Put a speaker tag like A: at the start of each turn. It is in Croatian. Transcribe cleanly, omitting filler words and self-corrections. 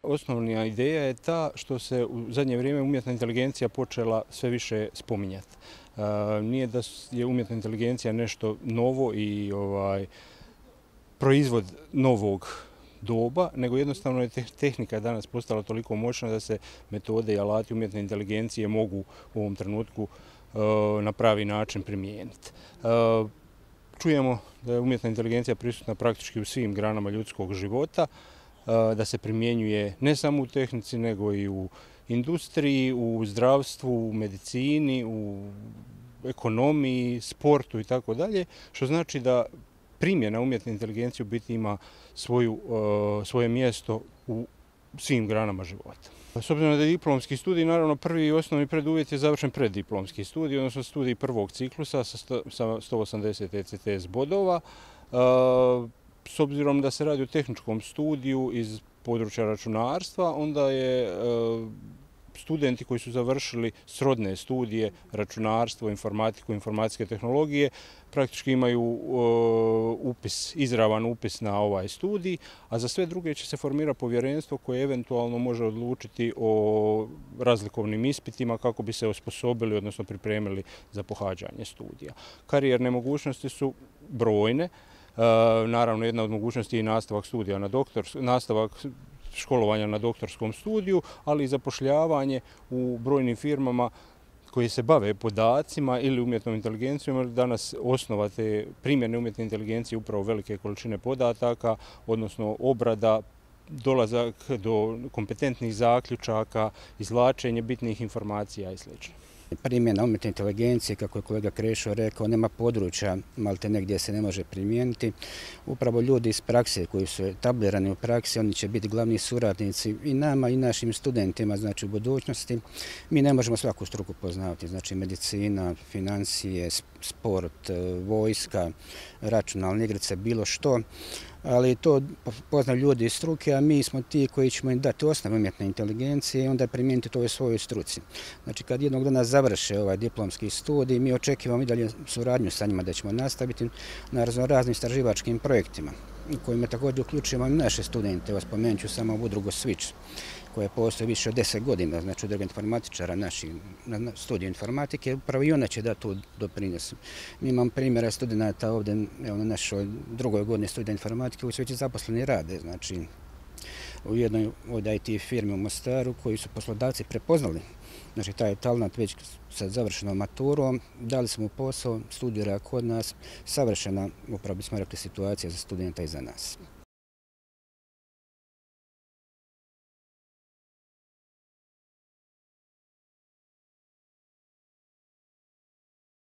A: osnovna ideja je ta što se u zadnje vrijeme umjetna inteligencija počela sve više spominjati. Nije da je umjetna inteligencija nešto novo i proizvod novog doba, nego jednostavno je tehnika danas postala toliko moćna da se metode i alati umjetne inteligencije mogu u ovom trenutku na pravi način primijeniti. Čujemo da je umjetna inteligencija prisutna praktički u svim granama ljudskog života, da se primjenjuje ne samo u tehnici nego i u industriji, u zdravstvu, u medicini, u ekonomiji, sportu i tako dalje, što znači da primjena umjetne inteligencije u biti ima svoje mjesto u svim granama života. S obzirom da je diplomski studij, naravno prvi i osnovni preduvjet je završen preddiplomski studij, odnosno studij prvog ciklusa sa 180 ECTS bodova. S obzirom da se radi o tehničkom studiju iz područja računarstva, onda je studenti koji su završili srodne studije, računarstvo, informatiku, informacijske tehnologije, praktički imaju izravan upis na ovaj studij, a za sve druge će se formirati povjerenstvo koje eventualno može odlučiti o razlikovnim ispitima kako bi se osposobili, odnosno pripremili za pohađanje studija. Karijerne mogućnosti su brojne. Naravno, jedna od mogućnosti je i nastavak studija nastavak školovanja na doktorskom studiju, ali i zapošljavanje u brojnim firmama koji se bave podacima ili umjetnom inteligencijom, jer danas osnova te primjene umjetne inteligencije upravo velike količine podataka, odnosno obrada, dolazak do kompetentnih zaključaka, izvlačenje bitnih informacija i sl.
B: Primjena umjetne inteligencije, kako je kolega Krešo rekao, nema područja maltene gdje se ne može primijeniti. Upravo ljudi iz prakse koji su etablirani u praksi, oni će biti glavni suradnici i nama i našim studentima, znači u budućnosti. Mi ne možemo svaku struku poznavati, znači medicina, financije, sport, vojska, računalne igrice, bilo što. Ali to poznaju ljudi iz struke, a mi smo ti koji ćemo im dati osnovu umjetne inteligencije i onda primijeniti to u svojoj struci. Znači, kad jednog dana završe ovaj diplomski studij, mi očekivamo i dalje suradnju sa njima da ćemo nastaviti na raznim istraživačkim projektima u kojima također uključujemo i naše studente. Evo, spomenut ću samo udrugu Switch, koja postoji više od 10 godina, znači udruga informatičara naših na studiju informatike, upravo i ona će dati tu doprinos. Mi imamo primjera studenta ovdje na našoj drugoj godini studija informatike koji su već zaposleni rade, znači u jednoj od IT firmi u Mostaru koji su poslodavci prepoznali. Znači taj talent već sa završenom maturom, dali smo posao, studira kod nas, savršena, upravo bismo rekli, situacija za studenta i za nas.